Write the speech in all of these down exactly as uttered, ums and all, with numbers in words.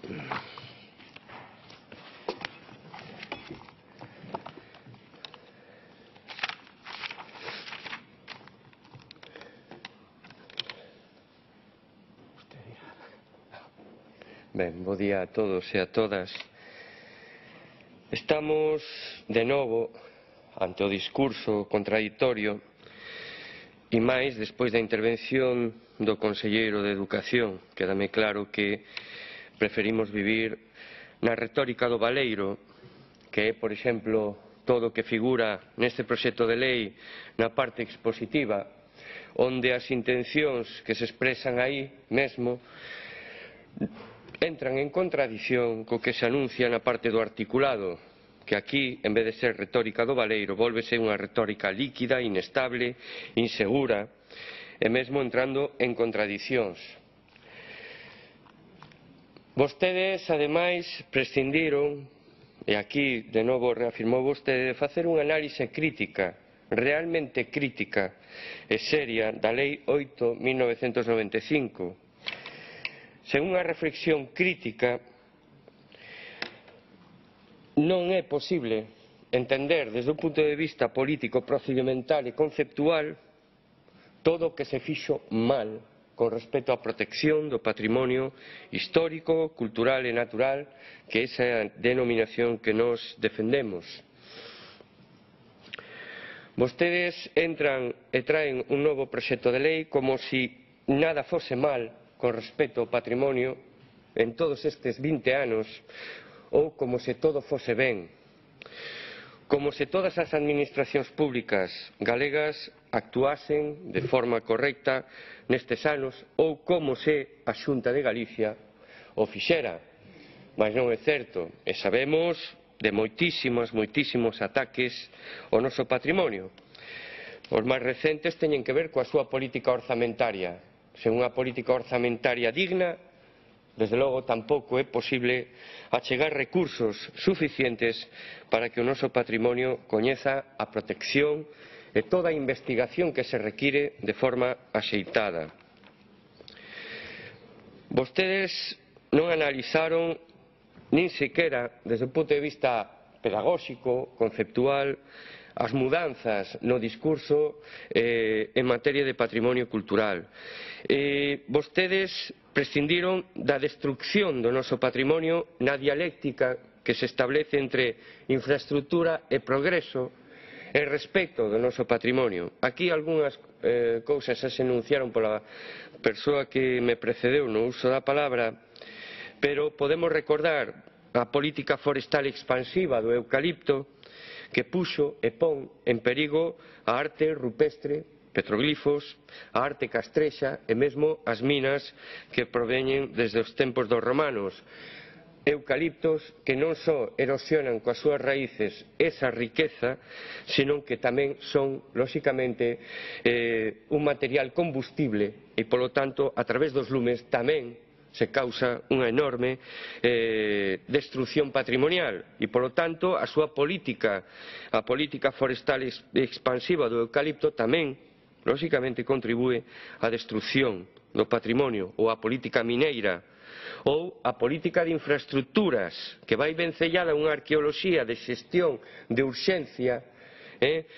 Ben, bo día a todos e a todas. Estamos, de novo, ante o discurso contradictorio e máis despois da intervención do conselleiro de Educación. Quédame claro que preferimos vivir na retórica do baleiro, que é, por exemplo, todo o que figura neste proxecto de lei na parte expositiva, onde as intencións que se expresan aí mesmo entran en contradición co que se anuncia na parte do articulado, que aquí, en vez de ser retórica do baleiro, vólvese unha retórica líquida, inestable, insegura, e mesmo entrando en contradicións. Vostedes, ademais, prescindiron, e aquí, de novo, reafirmou vostede, de facer unha análise crítica, realmente crítica e seria, da Lei oito barra mil novecentos noventa e cinco. Sen unha reflexión crítica, non é posible entender desde un punto de vista político, procedimental e conceptual todo o que se fixo mal con respecto á protección do patrimonio histórico, cultural e natural, que esa é a denominación que nós defendemos. Vostedes entran e traen un novo proxecto de lei como se nada fose mal con respecto ao patrimonio en todos estes vinte anos, ou como se todo fose ben, como se todas as administracións públicas galegas actuasen de forma correcta nestes anos, ou como se a Xunta de Galicia o fixera. Mas non é certo, e sabemos de moitísimos, moitísimos ataques ao noso patrimonio. Os máis recentes teñen que ver coa súa política orzamentaria. Sen unha política orzamentaria digna, desde logo tampouco é posible achegar recursos suficientes para que o noso patrimonio coñeza a protección e toda a investigación que se require de forma axeitada. Vostedes non analizaron nin sequera desde o punto de vista pedagóxico, conceptual, as mudanzas no discurso eh, en materia de patrimonio cultural. Eh, vostedes prescindiron da destrucción do noso patrimonio na dialéctica que se establece entre infraestructura e progreso e respecto do noso patrimonio. Aquí algunhas eh, cousas se enunciaron pola persoa que me precedeu no uso da palabra, pero podemos recordar a política forestal expansiva do eucalipto, que puxo e pon en perigo a arte rupestre, petroglifos, a arte castrexa e mesmo as minas que proveñen desde os tempos dos romanos. Eucaliptos que non só erosionan coas súas raíces esa riqueza, senón que tamén son, lóxicamente, eh, un material combustible e, polo tanto, a través dos lumes tamén se causa unha enorme eh, destrucción patrimonial e, polo tanto, a súa política, a política forestal expansiva do eucalipto tamén, lóxicamente, contribúe á destrucción do patrimonio, ou a política mineira, ou a política de infraestructuras, que vai vencellada a unha arqueoloxía de xestión de urxencia, eh,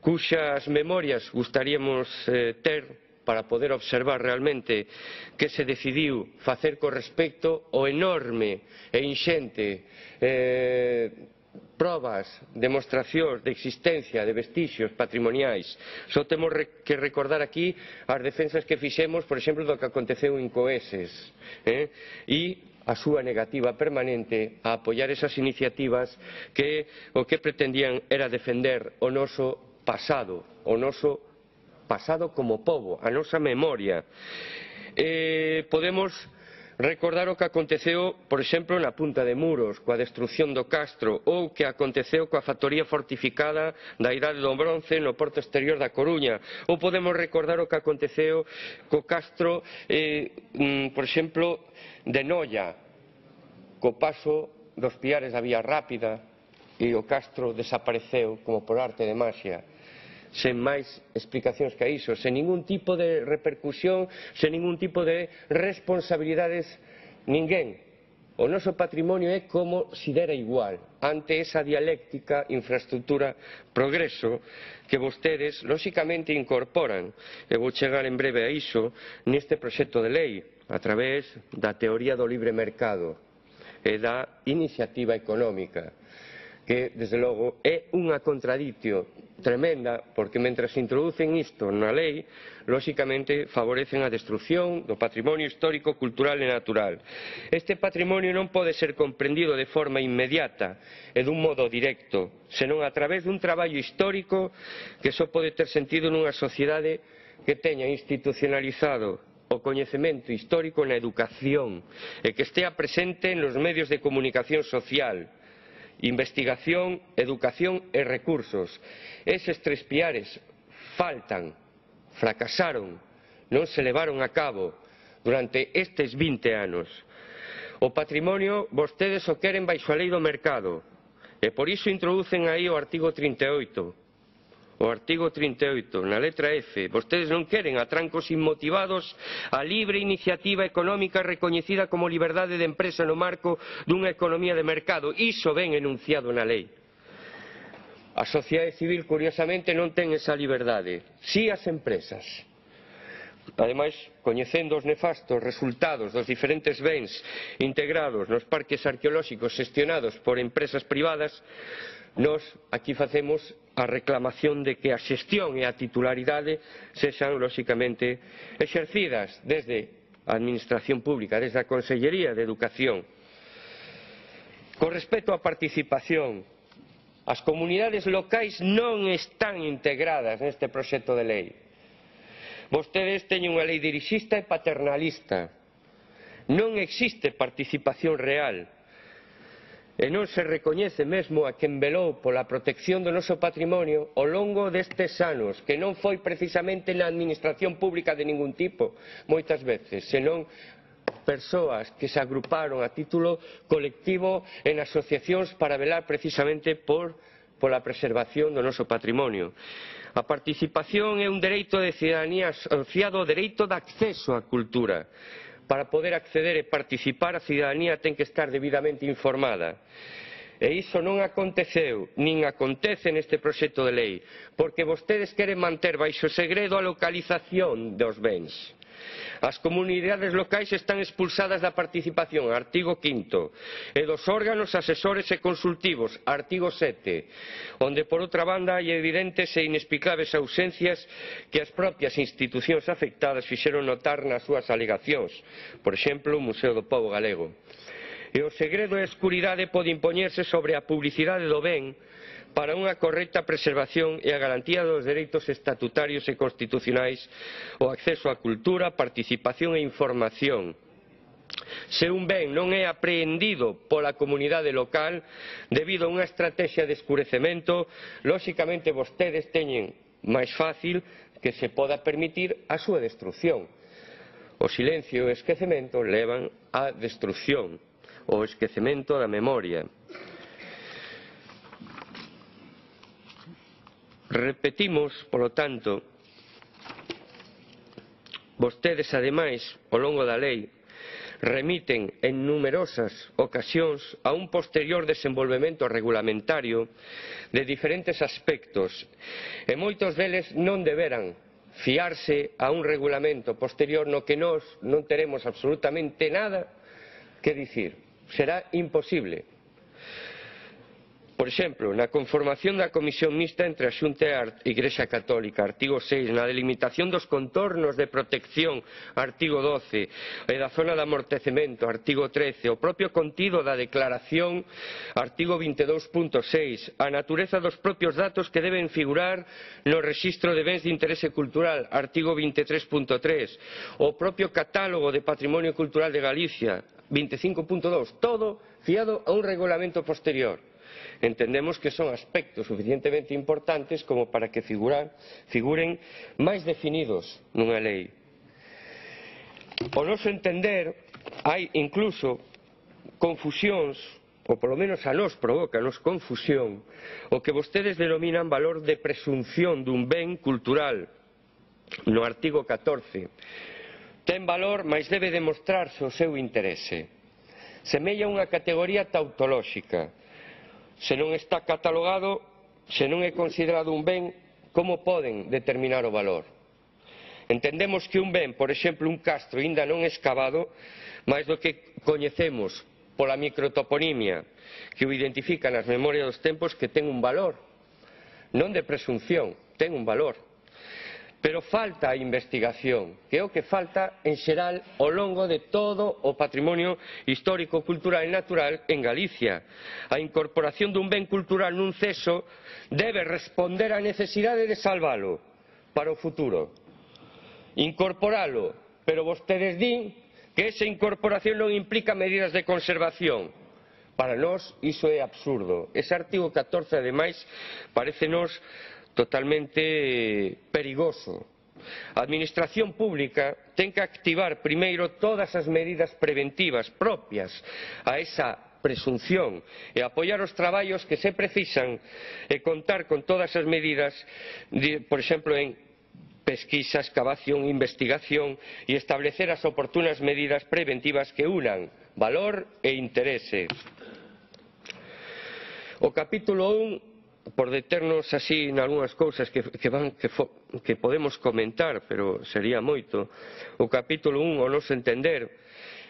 cuxas memorias gustaríamos eh, ter para poder observar realmente que se decidiu facer con respecto ao enorme e inxente eh, probas, demostracións de existencia de vestixios patrimoniais. Só temos que recordar aquí as defensas que fixemos, por exemplo, do que aconteceu en Coeses, eh? e a súa negativa permanente a apoiar esas iniciativas que o que pretendían era defender o noso pasado, o noso pasado como pobo, a nosa memoria. Eh, podemos recordar o que aconteceu, por exemplo, na Punta de Muros, coa destrucción do castro, ou que aconteceu coa factoría fortificada da Idade do Bronce no porto exterior da Coruña, ou podemos recordar o que aconteceu co castro, eh, por exemplo, de Noia, co paso dos piares da Vía Rápida, e o castro desapareceu como por arte de maxia. Sen máis explicacións que a iso, sen ningún tipo de repercusión, sen ningún tipo de responsabilidades, ninguén o noso patrimonio é como se dera igual ante esa dialéctica infraestructura-progreso que vostedes, lóxicamente, incorporan, e vou chegar en breve a iso, neste proxecto de lei, a través da teoría do libre mercado e da iniciativa económica, que, desde logo, é unha contradición tremenda, porque mentre introducen isto na lei, lóxicamente favorecen a destrucción do patrimonio histórico, cultural e natural. Este patrimonio non pode ser comprendido de forma inmediata e dun modo directo, senón a través dun traballo histórico que só pode ter sentido nunha sociedade que teña institucionalizado o coñecemento histórico na educación e que estea presente nos medios de comunicación social, investigación, educación e recursos. Eses tres piares faltan, fracasaron, non se levaron a cabo durante estes vinte anos. O patrimonio vostedes o queren baixo a lei do mercado e por iso introducen aí o artigo trinta e oito. O artigo trinta e oito, na letra F, vostedes non queren atrancos inmotivados a libre iniciativa económica recoñecida como liberdade de empresa no marco dunha economía de mercado. Iso ven enunciado na lei. A sociedade civil, curiosamente, non ten esa liberdade. Si as empresas. Ademais, coñecendo os nefastos resultados dos diferentes bens integrados nos parques arqueolóxicos xestionados por empresas privadas, nós aquí facemos a reclamación de que a xestión e a titularidade sexan, lóxicamente, exercidas desde a Administración Pública, desde a Consellería de Educación. Con respecto á participación, as comunidades locais non están integradas neste proxecto de lei. Vostedes teñen unha lei dirixista e paternalista. Non existe participación real. E non se recoñece mesmo a quen velou pola protección do noso patrimonio ao longo destes anos, que non foi precisamente na administración pública de ningún tipo, moitas veces, senón persoas que se agruparon a título colectivo en asociacións para velar precisamente por, pola preservación do noso patrimonio. A participación é un dereito de cidadanía asociado ao dereito de acceso á cultura. Para poder acceder e participar, a cidadanía ten que estar debidamente informada. E iso non aconteceu, nin acontece neste proxecto de lei, porque vostedes queren manter baixo segredo a localización dos bens. As comunidades locais están expulsadas da participación, artigo quinto, e dos órganos asesores e consultivos, artigo sete, onde, por outra banda, hai evidentes e inexplicables ausencias que as propias institucións afectadas fixeron notar nas súas alegacións, por exemplo, o Museo do Pobo Galego. E o segredo e a escuridade pode impoñerse sobre a publicidade do ben para unha correcta preservación e a garantía dos dereitos estatutarios e constitucionais, o acceso á cultura, participación e información. Se un ben non é apreendido pola comunidade local debido a unha estrategia de escurecemento, lóxicamente vostedes teñen máis fácil que se poda permitir a súa destrucción. O silencio e o esquecemento levan á destrucción, o esquecemento da memoria. Repetimos, polo tanto, vostedes, ademais, ao longo da lei, remiten en numerosas ocasións a un posterior desenvolvemento regulamentario de diferentes aspectos, e moitos deles non deberan fiarse a un regulamento posterior no que nós non teremos absolutamente nada que dicir. Será imposible. Por exemplo, na conformación da Comisión Mixta entre a Xunta e a Igrexa Católica, artigo seis, na delimitación dos contornos de protección, artigo doce, e da zona de amortecemento, artigo trece, o propio contido da declaración, artigo vinte e dous punto seis, a natureza dos propios datos que deben figurar no rexistro de bens de interese cultural, artigo vinte e tres punto tres, o propio catálogo de patrimonio cultural de Galicia, vinte e cinco punto dous, todo fiado a un regulamento posterior. Entendemos que son aspectos suficientemente importantes como para que figurar, figuren máis definidos nunha lei. Ao noso entender, hai incluso confusións, ou polo menos a nós provócanos confusión, o que vostedes denominan valor de presunción dun ben cultural, no artigo catorce. Ten valor, mas debe demostrarse o seu interese. semella unha categoría tautolóxica. Se non está catalogado, se non é considerado un ben, como poden determinar o valor? Entendemos que un ben, por exemplo, un castro aínda non escavado, máis do que coñecemos pola microtoponimia que o identifica nas memorias dos tempos, que ten un valor, non de presunción, ten un valor. Pero falta a investigación, que é o que falta en xeral ao longo de todo o patrimonio histórico, cultural e natural en Galicia. A incorporación dun ben cultural nun ceso debe responder á necesidade de salvalo para o futuro. Incorporalo, pero vostedes din que esa incorporación non implica medidas de conservación. Para nós iso é absurdo. Ese artigo catorce, ademais, parecenos totalmente perigoso. A Administración Pública ten que activar primeiro todas as medidas preventivas propias a esa presunción e apoiar os traballos que se precisan e contar con todas as medidas, por exemplo, en pesquisa, excavación, investigación e establecer as oportunas medidas preventivas que unan valor e interese. O capítulo un, por deternos así en algunhas cousas que, que, van, que, fo, que podemos comentar, pero sería moito, o capítulo un, ao noso entender,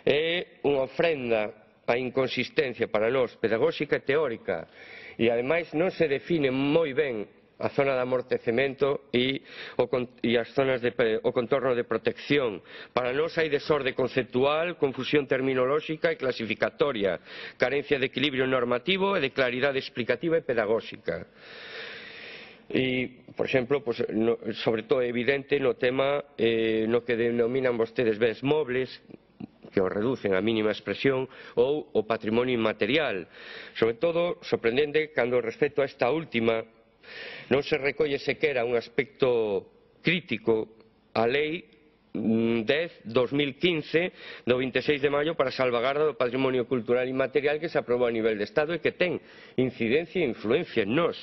é unha ofrenda á inconsistencia para nós, pedagóxica e teórica, e ademais non se define moi ben a zona de amortecemento e o, e as zonas de, o contorno de protección. Para nós hai desorde conceptual, confusión terminolóxica e clasificatoria, carencia de equilibrio normativo e de claridade explicativa e pedagóxica. E, por exemplo, pues, no, sobre todo é evidente no tema eh, no que denominan vostedes bens mobles, que o reducen a mínima expresión, ou o patrimonio inmaterial. Sobre todo, sorprendente cando respecto a esta última non se recolle sequera un aspecto crítico á Lei dez barra dos mil quince do vinte e seis de maio para a salvagarda do patrimonio cultural inmaterial que se aprobou a nivel de Estado e que ten incidencia e influencia en nós.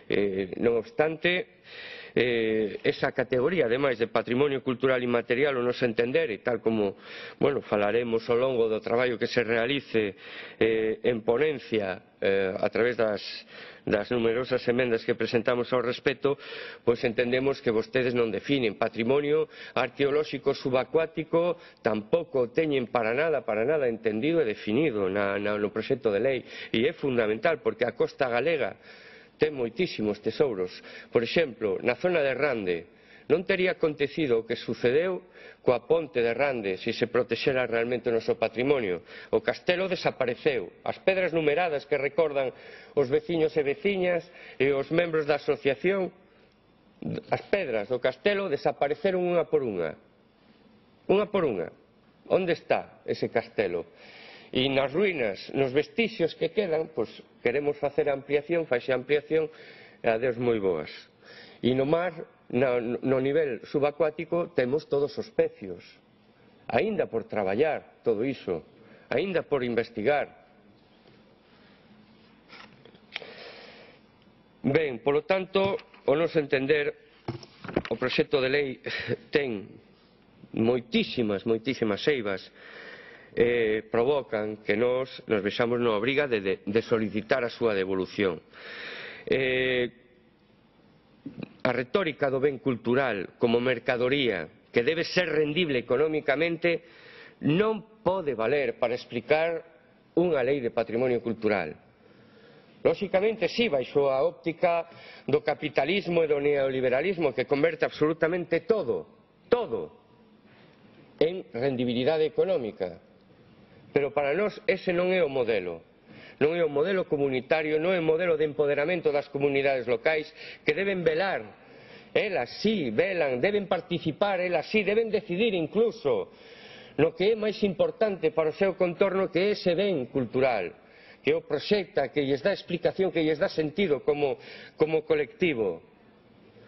Eh, non obstante, eh, esa categoría, ademais de patrimonio cultural inmaterial, o noso entender, e tal como bueno, falaremos ao longo do traballo que se realice eh, en ponencia eh, a través das das numerosas emendas que presentamos ao respecto, pois entendemos que vostedes non definen patrimonio arqueolóxico subacuático, tampouco teñen para nada, para nada entendido e definido na, na, no proxecto de lei, e é fundamental porque a costa galega ten moitísimos tesouros. Por exemplo, na zona de Rande non tería acontecido o que sucedeu coa ponte de Rande se se protexera realmente o noso patrimonio. O castelo desapareceu. As pedras numeradas que recordan os veciños e veciñas e os membros da asociación, as pedras do castelo desapareceron unha por unha. Unha por unha. Onde está ese castelo? E nas ruínas, nos vestixios que quedan, pois queremos facer ampliación, faxe ampliación e adeus moi boas. E no mar, no, no nivel subacuático, temos todos os pecios. Aínda por traballar todo iso, aínda por investigar. Ben, polo tanto, o noso entender, o proxecto de lei ten moitísimas, moitísimas eivas eh, provocan que nós nos vexamos na obriga de, de, de solicitar a súa devolución. Eh, A retórica do ben cultural como mercadoría que debe ser rendible económicamente non pode valer para explicar unha lei de patrimonio cultural. Lóxicamente, sí, baixo a óptica do capitalismo e do neoliberalismo que converte absolutamente todo, todo, en rendibilidade económica. Pero para nós ese non é o modelo. Non é o modelo comunitario, non é o modelo de empoderamento das comunidades locais que deben velar, elas sí velan, deben participar, elas sí deben decidir incluso no que é máis importante para o seu contorno, que é ese ben cultural, que o proxecta, que lles dá explicación, que lles dá sentido como, como colectivo.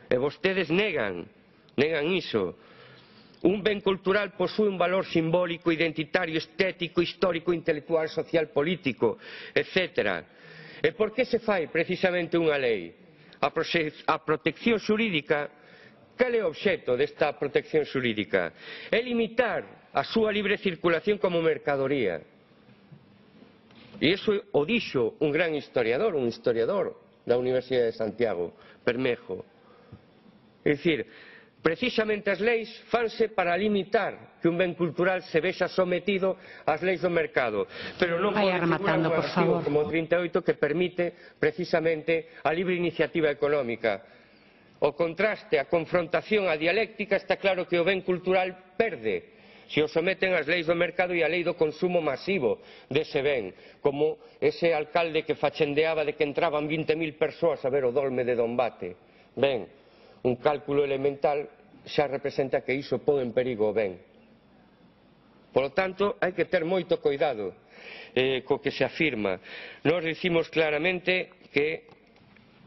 E vostedes negan, negan iso. Un ben cultural posúe un valor simbólico, identitario, estético, histórico, intelectual, social, político, etcétera. E por que se fai precisamente unha lei? A, a protección xurídica, cal é o obxecto desta protección xurídica? É limitar a súa libre circulación como mercadoría. E iso o dixo un gran historiador, un historiador da Universidade de Santiago, Bermejo. É dicir, precisamente as leis fanse para limitar que un ben cultural se vexa sometido ás leis do mercado, pero non pode figurar un artigo como o trinta e oito que permite precisamente a libre iniciativa económica. O contraste, a confrontación, a dialéctica, está claro que o ben cultural perde se o someten ás leis do mercado e á lei do consumo masivo dese ben, como ese alcalde que fachendeaba de que entraban vinte mil persoas a ver o dolme de Dombate. Ben, un cálculo elemental xa representa que iso pode en perigo o ben. Por lo tanto, hai que ter moito cuidado eh, co que se afirma. Nós dicimos claramente que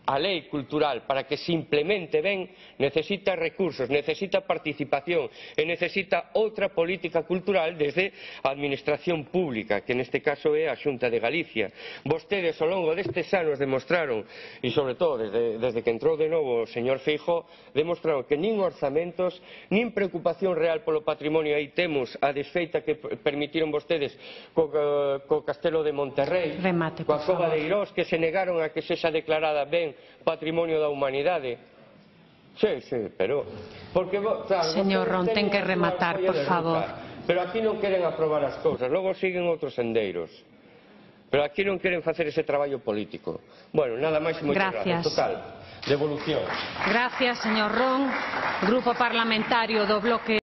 a lei cultural, para que se implemente ben, necesita recursos, necesita participación e necesita outra política cultural desde a administración pública, que neste caso é a Xunta de Galicia. Vostedes ao longo destes anos demostraron, e sobre todo desde, desde que entrou de novo o señor Feijóo, demostraron que nin orzamentos, nin preocupación real polo patrimonio. Aí temos a desfeita que permitiron vostedes co, co Castelo de Monterrey, Remate, coa Cova de Eirós, que se negaron a que sexa declarada ben patrimonio da humanidade. Sí, sí, pero... Porque, claro, señor Ron, ten que rematar, por favor. Pero aquí non queren aprobar as cousas, logo siguen outros sendeiros. Pero aquí non queren facer ese traballo político. Bueno, nada máis e moitas gracias. Total, devolución. Gracias, señor Ron. Grupo Parlamentario do Bloque